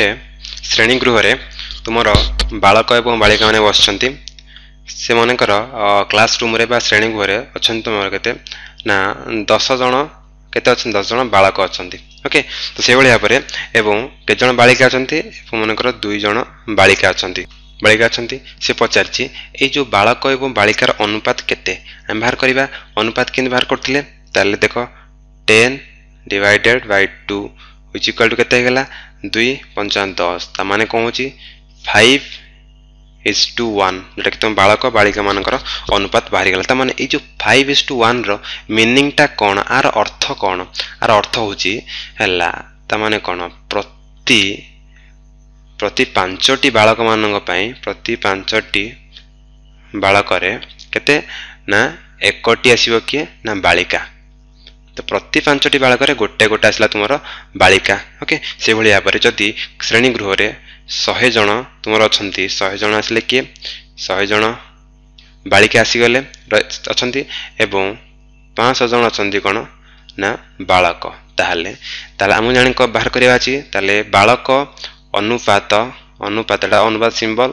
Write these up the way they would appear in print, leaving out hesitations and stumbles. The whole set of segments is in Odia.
ଗୋଟେ ଶ୍ରେଣୀଗୃହରେ ତୁମର ବାଳକ ଏବଂ ବାଳିକାମାନେ ବସିଛନ୍ତି। ସେମାନଙ୍କର କ୍ଲାସ୍ ରୁମ୍ରେ ବା ଶ୍ରେଣୀଗୃହରେ ଅଛନ୍ତି ତୁମର କେତେ ନା 10 ଜଣ, କେତେ ଅଛନ୍ତି? 10 ଜଣ ବାଳକ ଅଛନ୍ତି। ଓକେ, ତ ସେଇଭଳି ଭାବରେ ଏବଂ କେତେ ଜଣ ବାଳିକା ଅଛନ୍ତି? ଏବଂ ମନେକର 2 ଜଣ ବାଳିକା ଅଛନ୍ତି, ବାଳିକା ଅଛନ୍ତି। ସେ ପଚାରିଛି ଏଇ ଯେଉଁ ବାଳକ ଏବଂ ବାଳିକାର ଅନୁପାତ କେତେ ଆମେ ବାହାର କରିବା। ଅନୁପାତ କେମିତି ବାହାର କରୁଥିଲେ? ତାହେଲେ ଦେଖ, 10 divided by 2 which equal to କେତେ ହେଇଗଲା? 2 5 10। ତାମାନେ କ'ଣ ହେଉଛି? 5 is two 1, ଯେଉଁଟାକି ତୁମ ବାଳକ ବାଳିକାମାନଙ୍କର ଅନୁପାତ ବାହାରିଗଲା। ତାମାନେ ଏଇ ଯେଉଁ 5 is two 1ର ମିନିଂଟା କ'ଣ, ଆର ଅର୍ଥ କ'ଣ? ଆର ଅର୍ଥ ହେଉଛି ହେଲା, ତାମାନେ କ'ଣ, ପ୍ରତି ପ୍ରତି 5ଟି ବାଳକମାନଙ୍କ ପାଇଁ, ପ୍ରତି 5ଟି ବାଳକରେ କେତେ ନା 1ଟି ଆସିବ କିଏ ନା ବାଳିକା। ତ ପ୍ରତି 5ଟି ବାଳକରେ ଗୋଟେ ଗୋଟେ ଆସିଲା ତୁମର ବାଳିକା। ଓକେ, ସେଭଳି ଭାବରେ ଯଦି ଶ୍ରେଣୀ ଗୃହରେ 100 ଜଣ ତୁମର ଅଛନ୍ତି, 100 ଜଣ ଆସିଲେ କିଏ? 100 ଜଣ ବାଳିକା ଆସିଗଲେ ଅଛନ୍ତି ଏବଂ 500 ଜଣ ଅଛନ୍ତି କ'ଣ ନା ବାଳକ। ତାହେଲେ ଆମକୁ ଜାଣି ବାହାର କରିବା ଅଛି। ତାହେଲେ ବାଳକ ଅନୁପାତ, ଅନୁପାତଟା ଅନୁପାତ ସିମ୍ବଲ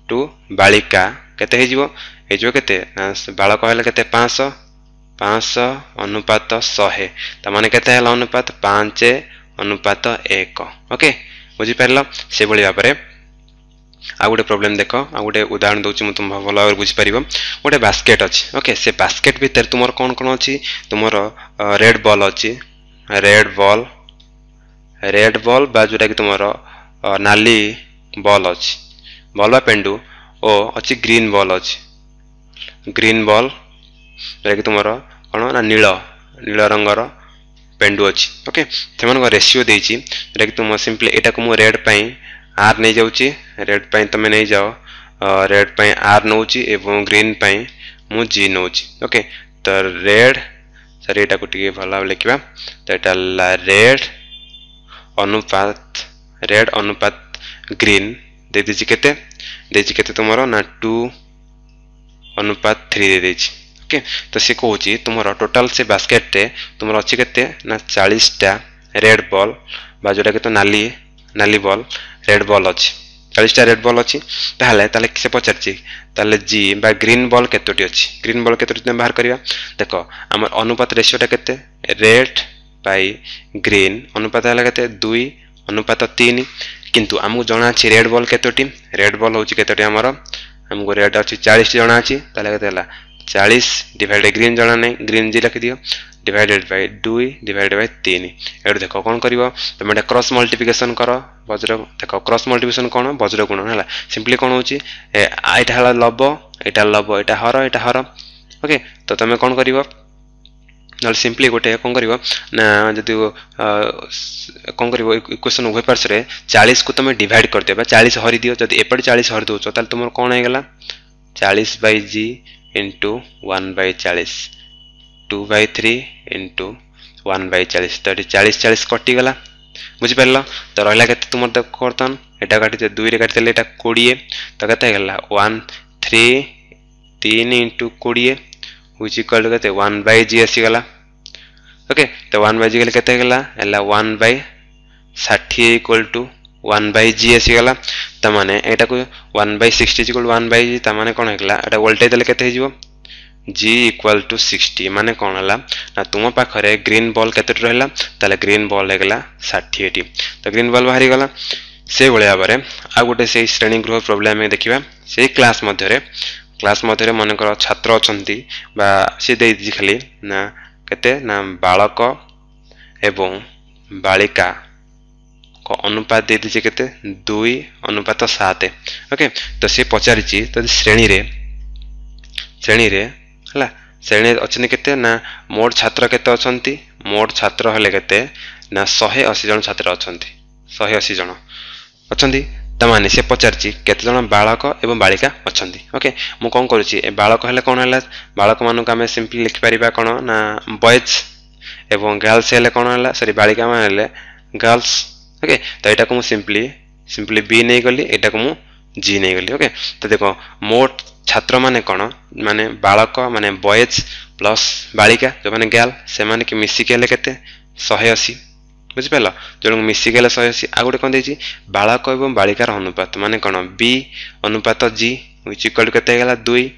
ଟୁ ବାଳିକା କେତେ ହେଇଯିବ? ହେଇଯିବ କେତେ ନା ବାଳକ ହେଲେ କେତେ? 500, 500 ଅନୁପାତ 100, ତାମାନେ କେତେ ହେଲା ଅନୁପାତ? 5 ଅନୁପାତ 1। ଓକେ, ବୁଝିପାରିଲ? ସେଭଳି ଭାବରେ ଆଉ ଗୋଟେ ପ୍ରୋବ୍ଲେମ୍ ଦେଖ, ଆଉ ଗୋଟେ ଉଦାହରଣ ଦେଉଛି ମୁଁ, ତୁମ ଭଲ ଭାବରେ ବୁଝିପାରିବ। ଗୋଟେ ବାସ୍କେଟ୍ ଅଛି। ଓକେ, ସେ ବାସ୍କେଟ୍ ଭିତରେ ତୁମର କ'ଣ କ'ଣ ଅଛି? ତୁମର ରେଡ୍ ବଲ୍ ଅଛି, ରେଡ୍ ବଲ୍, ରେଡ୍ ବଲ୍ ବା ଯେଉଁଟାକି ତୁମର ନାଲି ବଲ୍ ଅଛି, ବଲ୍ ବା ପେଣ୍ଡୁ, ଓ ଅଛି ଗ୍ରୀନ୍ ବଲ୍ ଅଛି, ଗ୍ରୀନ୍ ବଲ୍ ଯେଉଁଟାକି ତୁମର କ'ଣ ନା ନୀଳ, ନୀଳ ରଙ୍ଗର ପେଣ୍ଡୁ ଅଛି। ଓକେ, ସେମାନଙ୍କ ରେସିଓ ଦେଇଛି, ଯେଉଁଟାକି ତୁମ ସିମ୍ପଲି ଏଇଟାକୁ ମୁଁ ରେଡ୍ ପାଇଁ ଆର୍ ନେଇଯାଉଛି, ରେଡ୍ ପାଇଁ ତୁମେ ନେଇଯାଅ, ରେଡ୍ ପାଇଁ ଆର୍ ନେଉଛି ଏବଂ ଗ୍ରୀନ୍ ପାଇଁ ମୁଁ ଜି ନେଉଛି। ଓକେ, ତ ରେଡ୍, ସରି, ଏଇଟାକୁ ଟିକେ ଭଲ ଭାବେ ଲେଖିବା। ତ ଏଇଟା ହେଲା ରେଡ୍ ଅନୁପାତ, ରେଡ୍ ଅନୁପାତ ଗ୍ରୀନ୍ ଦେଇଦେଇଛି କେତେ? ଦେଇଛି କେତେ ତୁମର ନା 2 ଅନୁପାତ 3 ଦେଇଦେଇଛି। ଓକେ, ତ ସେ କହୁଛି ତୁମର ଟୋଟାଲ ସେ ବାସ୍କେଟରେ ତୁମର ଅଛି କେତେ ନା 40ଟା ରେଡ୍ ବଲ୍ ବା ଯେଉଁଟାକି ତ ନାଲି, ନାଲି ବଲ୍, ରେଡ୍ ବଲ୍ ଅଛି, 40ଟା ରେଡ୍ ବଲ୍ ଅଛି। ତାହେଲେ ସେ ପଚାରିଛି ତାହେଲେ ଜି ବା ଗ୍ରୀନ୍ ବଲ୍ କେତୋଟି ଅଛି? ଗ୍ରୀନ୍ ବଲ୍ କେତୋଟି ତୁମେ ବାହାର କରିବା। ଦେଖ, ଆମର ଅନୁପାତ ରେସିଓଟା କେତେ? ରେଡ୍ ବାଇ ଗ୍ରୀନ୍ ଅନୁପାତ ହେଲା କେତେ? 2 ଅନୁପାତ 3। କିନ୍ତୁ ଆମକୁ ଜଣା ଅଛି ରେଡ୍ ବଲ୍ କେତୋଟି? ରେଡ୍ ବଲ୍ ହେଉଛି କେତୋଟି ଆମର? ଆମକୁ ରେଡ୍ ଅଛି 40ଟି ଜଣା ଅଛି। ତାହେଲେ କେତେ ହେଲା? 40 ଡିଭାଇଡେଡ଼ ଗ୍ରୀନ୍ ଜଣା ନାହିଁ, ଗ୍ରୀନ୍ ଜି ଲେଖିଦିଅ, ଡିଭାଇଡେଡ଼ ବାଇ 2 ଡିଭାଇଡେଡ଼ ବାଇ 3। ଏଠୁ ଦେଖ କ'ଣ କରିବ ତୁମେ, ଏଇଟା କ୍ରସ୍ ମଲ୍ଟିପ୍ଲିକେସନ୍ କର, ବଜ୍ର। ଦେଖ, କ୍ରସ୍ ମଲ୍ଟିପ୍ଲିକେସନ୍ କ'ଣ? ବଜ୍ର ଗୁଣ ହେଲା। ସିମ୍ପଲି କ'ଣ ହେଉଛି? ଏଇଟା ହେଲା ଲବ, ଏଇଟା ଲବ, ଏଇଟା ହର, ଏଇଟା ହର। ଓକେ, ତ ତୁମେ କ'ଣ କରିବ? ନହେଲେ ସିମ୍ପଲି ଗୋଟେ କ'ଣ କରିବ ନା, ଯଦି କ'ଣ କରିବ, ଇକ୍ୱେସନ୍ ଉଭୟ ପାର୍ଶ୍ୱରେ 40କୁ ତୁମେ ଡିଭାଇଡ଼ କରିଦିଅ ବା 40 ହରିଦିଅ। ଯଦି ଏପଟେ 40 ହରି ଦେଉଛ, ତାହେଲେ ତୁମର କ'ଣ ହେଇଗଲା? 40 Bai G into 1 Bai 40, 2 Bai 3 into 1 Bai 40। ତ ଏଠି 40 40 କଟିଗଲା, ବୁଝିପାରିଲ? ତ ରହିଲା କେତେ ତୁମର? ଦେଖ, ବର୍ତ୍ତମାନ ଏଇଟା କାଟିଦିଅ, 2ରେ କାଟିଦେଲେ ଏଇଟା 20। ତ କେତେ ହେଇଗଲା? 1 3 3 ଇଣ୍ଟୁ 20 which equal to କେତେ? 1 ବାଇ ଜି ଆସିଗଲା। ଓକେ, ତ 1 ବାଇ ଜି ଗଲେ କେତେ ହେଇଗଲା? ହେଲା 1 Bai 60 equal to 1 Bai G ଆସିଗଲା। ତାମାନେ ଏଇଟାକୁ 1 ବାଇ 60 ଇକ୍ୱାଲ୍ 1 ବାଇ ଜି, ତାମାନେ କ'ଣ ହେଇଗଲା? ଏଇଟା ଓଲଟାଇ ଦେଲେ କେତେ ହେଇଯିବ? G equal to 60। ମାନେ କ'ଣ ହେଲା ନା ତୁମ ପାଖରେ ଗ୍ରୀନ୍ ବଲ୍ କେତୋଟି ରହିଲା? ତାହେଲେ ଗ୍ରୀନ୍ ବଲ୍ ହେଇଗଲା 60ଟି। ତ ଗ୍ରୀନ୍ ବଲ୍ ବାହାରିଗଲା। ସେଇଭଳି ଭାବରେ ଆଉ ଗୋଟେ ସେଇ ଶ୍ରେଣୀ ଗୃହ ପ୍ରୋବ୍ଲେମ୍ ଆମେ ଦେଖିବା। ସେଇ କ୍ଲାସ୍ ମଧ୍ୟରେ, କ୍ଲାସ୍ ମଧ୍ୟରେ ମନେକର ଛାତ୍ର ଅଛନ୍ତି ବା ସେ ଦେଇଦେଇଛି ଖାଲି ନା କେତେ ନା ବାଳକ ଏବଂ ବାଳିକା ଅନୁପାତ ଦେଇଦେଇଛି କେତେ? 2 ଅନୁପାତ 7। ଓକେ, ତ ସେ ପଚାରିଛି ଯଦି ଶ୍ରେଣୀରେ, ଶ୍ରେଣୀରେ ହେଲା, ଶ୍ରେଣୀରେ ଅଛନ୍ତି କେତେ ନା ମୋଟ ଛାତ୍ର କେତେ ଅଛନ୍ତି? ମୋଟ ଛାତ୍ର ହେଲେ କେତେ ନା 180 ଜଣ ଛାତ୍ର ଅଛନ୍ତି, 180 ଜଣ ଅଛନ୍ତି। ତାମାନେ ସେ ପଚାରିଛି କେତେ ଜଣ ବାଳକ ଏବଂ ବାଳିକା ଅଛନ୍ତି। ଓକେ, ମୁଁ କ'ଣ କରୁଛି? ଏ ବାଳକ ହେଲେ କ'ଣ ହେଲା? ବାଳକମାନଙ୍କୁ ଆମେ ସିମ୍ପଲି ଲେଖିପାରିବା କ'ଣ ନା ବଏଜ୍, ଏବଂ ଗାର୍ଲସ ହେଲେ କ'ଣ ହେଲା? ସରି, ବାଳିକା ମାନେ ହେଲେ ଗାର୍ଲସ। ଓକେ, ତ ଏଇଟାକୁ ମୁଁ ସିମ୍ପଲି ବି ନେଇଗଲି, ଏଇଟାକୁ ମୁଁ ଜି ନେଇଗଲି। ଓକେ, ତ ଦେଖ, ମୋଟ ଛାତ୍ରମାନେ କ'ଣ ମାନେ ବାଳକ ମାନେ ବଏଜ୍ ପ୍ଲସ୍ ବାଳିକା ଯେଉଁମାନେ ଗାର୍ଲ, ସେମାନେ କି ମିଶିକି ହେଲେ କେତେ? 180। ବୁଝିପାରିଲ? ଜଣଙ୍କୁ ମିଶିଗଲେ 180। ଆଉ ଗୋଟେ କ'ଣ ଦେଇଛି? ବାଳକ ଏବଂ ବାଳିକାର ଅନୁପାତ, ମାନେ କ'ଣ? ବି ଅନୁପାତ ଜି which equal to କେତେ ହେଇଗଲା? 2,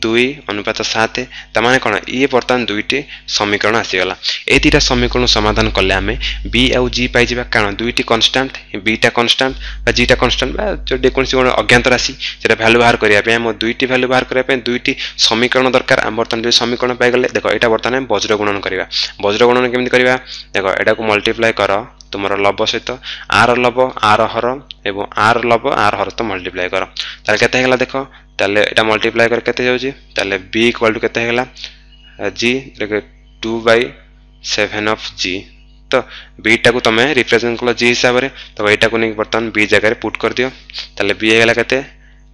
2 ଅନୁପାତ 7। ତାମାନେ କ'ଣ? ଇଏ ବର୍ତ୍ତମାନ ଦୁଇଟି ସମୀକରଣ ଆସିଗଲା। ଏଇ ଦୁଇଟା ସମୀକରଣ ସମାଧାନ କଲେ ଆମେ ବି ଆଉ ଜି ପାଇଯିବା, କାରଣ ଦୁଇଟି କନଷ୍ଟାଣ୍ଟ, ବିଟା କନଷ୍ଟାଣ୍ଟ ବା ଜିଟା କନଷ୍ଟାଣ୍ଟ ବା ଯେକୌଣସି ଗୋଟେ ଅଜ୍ଞାତ ରାଶି, ସେଟା ଭ୍ୟାଲୁ ବାହାର କରିବା ପାଇଁ, ଆମ ଦୁଇଟି ଭ୍ୟାଲୁ ବାହାର କରିବା ପାଇଁ ଦୁଇଟି ସମୀକରଣ ଦରକାର। ଆମେ ବର୍ତ୍ତମାନ ଦୁଇ ସମୀକରଣ ପାଇଗଲେ। ଦେଖ, ଏଇଟା ବର୍ତ୍ତମାନ ଆମେ ବଜ୍ର ଗୁଣନ କରିବା। ବଜ୍ର ଗୁଣନ କେମିତି କରିବା? ଦେଖ, ଏଟାକୁ ମଲ୍ଟିପ୍ଲାଏ କର ତୁମର ଲବ ସହିତ, ଆର ଲବ ଆର ହର ଏବଂ ଆର ଲବ ଆର ହର ତ ମଲ୍ଟିପ୍ଲାଏ କର। ତାହେଲେ କେତେ ହେଇଗଲା ଦେଖ। ତାହେଲେ ଏଇଟା ମଲ୍ଟିପ୍ଲାଏ କରି କେତେ ଯାଉଛି? ତାହେଲେ ବି ଇକ୍ୱାଲ୍ ଟୁ କେତେ ହେଇଗଲା? G 2 Bai 7 of G. ତ ବିଟାକୁ ତୁମେ ରିପ୍ରେଜେଣ୍ଟ କଲ ଜି ହିସାବରେ, ତ ଏଇଟାକୁ ନେଇକି ବର୍ତ୍ତମାନ ବି ଜାଗାରେ ପୁଟ୍ କରିଦିଅ। ତାହେଲେ ବି ହେଇଗଲା କେତେ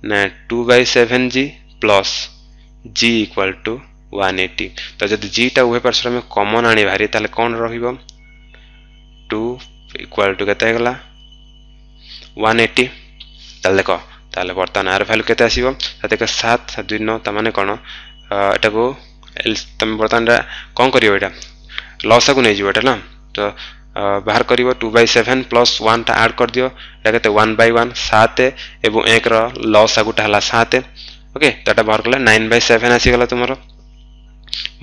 ନା 2 Bai 7 G plus G equal to 180। ତ ଯଦି ଜିଟା ଉଭୟ ପାର୍ଶ୍ୱରେ ଆମେ କମନ୍ ଆଣିବା ଭାରି, ତାହେଲେ କ'ଣ ରହିବ? 2 ଇକ୍ୱାଲ୍ ଟୁ କେତେ ହେଇଗଲା? 180। ତାହେଲେ ଦେଖ, ତାହେଲେ ବର୍ତ୍ତମାନ ଆର ଭ୍ୟାଲୁ କେତେ ଆସିବ? ଦେଖ, 7 7 2 9। ତାମାନେ କ'ଣ? ଏଟାକୁ ତମେ ବର୍ତ୍ତମାନ କ'ଣ କରିବ? ଏଇଟା ଲସାକୁ ନେଇଯିବ ଏଇଟା ନା, ତ ବାହାର କରିବ 2 ବାଇ 7 ପ୍ଲସ୍ 1ଟା ଆଡ଼୍ କରିଦିଅ। ଏଇଟା କେତେ? 1 ବାଇ 1। 7 ଏବଂ 1ର ଲସାଗୁଟା ହେଲା 7। ଓକେ, ତ ଏଟା ବାହାର କଲେ 9 ବାଇ 7 ଆସିଗଲା ତୁମର।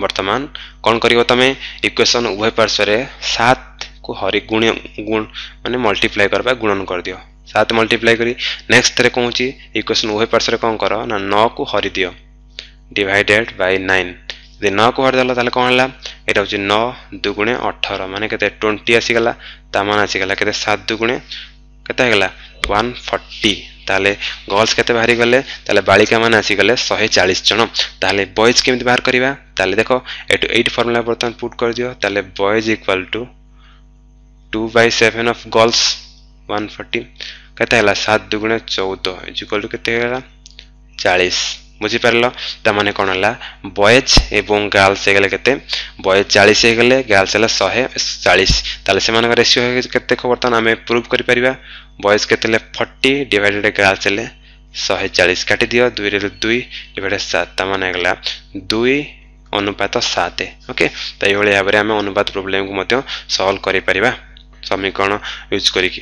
ବର୍ତ୍ତମାନ କ'ଣ କରିବ ତମେ? ଇକ୍ୱେସନ୍ ଉଭୟ ପାର୍ଶ୍ୱରେ 7କୁ ହରି ଗୁଣ ଗୁଣ ମାନେ ମଲ୍ଟିପ୍ଲାଏ କରିବା, ଗୁଣନ କରିଦିଅ 7 ମଲ୍ଟିପ୍ଲାଏ କରି। ନେକ୍ସଟ ଥରେ କହୁଛି, ଇକ୍ୱେସନ୍ ଉଭୟ ପାର୍ଶ୍ୱରେ କ'ଣ କର ନା 9କୁ ହରିଦିଅ, ଡିଭାଇଡେଡ୍ ବାଇ 9। ଯଦି 9କୁ ହରିଦେଲ, ତାହେଲେ କ'ଣ ହେଲା? ଏଇଟା ହେଉଛି 9 ଦୁଗୁଣେ 18, ମାନେ କେତେ? 20 ଆସିଗଲା। ତା ମାନେ ଆସିଗଲା କେତେ? 7 ଦୁଗୁଣେ କେତେ ହେଇଗଲା? 140। ତାହେଲେ ଗର୍ଲସ କେତେ ବାହାରିଗଲେ? ତାହେଲେ ବାଳିକା ମାନେ ଆସିଗଲେ 140 ଜଣ। ତାହେଲେ ବଏଜ୍ କେମିତି ବାହାର କରିବା? ତାହେଲେ ଦେଖ, ଏଠୁ ଏଇଟ୍ ଫର୍ମୁଲା ବର୍ତ୍ତମାନ ପୁଟ୍ କରିଦିଅ। ତାହେଲେ boys equal to 2 Bai 7 of girls 140। କେତେ ହେଲା? 7 ଦୁଗୁଣେ 14 is equal to କେତେ ହେଇଗଲା? 40। ବୁଝିପାରିଲ? ତାମାନେ କ'ଣ ହେଲା? ବଏଜ୍ ଏବଂ ଗାର୍ଲସ ହେଇଗଲେ କେତେ? ବଏଜ୍ 40 ହେଇଗଲେ, ଗାର୍ଲସ ହେଲା 140। ତାହେଲେ ସେମାନଙ୍କ ରେସିଓ କେତେ? ବର୍ତ୍ତମାନ ଆମେ ପ୍ରୁଭ୍ କରିପାରିବା। ବଏଜ୍ କେତେ ହେଲେ? 40 ଡିଭାଇଡେଡ୍ ଗାର୍ଲସ ହେଲେ 140। କାଟିଦିଅ, 2ରେ 2 ଡିଭାଇଡେଡ୍ 7, ତାମାନେ ହେଇଗଲା 2 ଅନୁପାତ 7। ଓକେ, ତ ଏଇଭଳି ଭାବରେ ଆମେ ଅନୁପାତ ପ୍ରୋବ୍ଲେମକୁ ମଧ୍ୟ ସଲ୍ଭ କରିପାରିବା ସମୀକରଣ ୟୁଜ୍ କରିକି।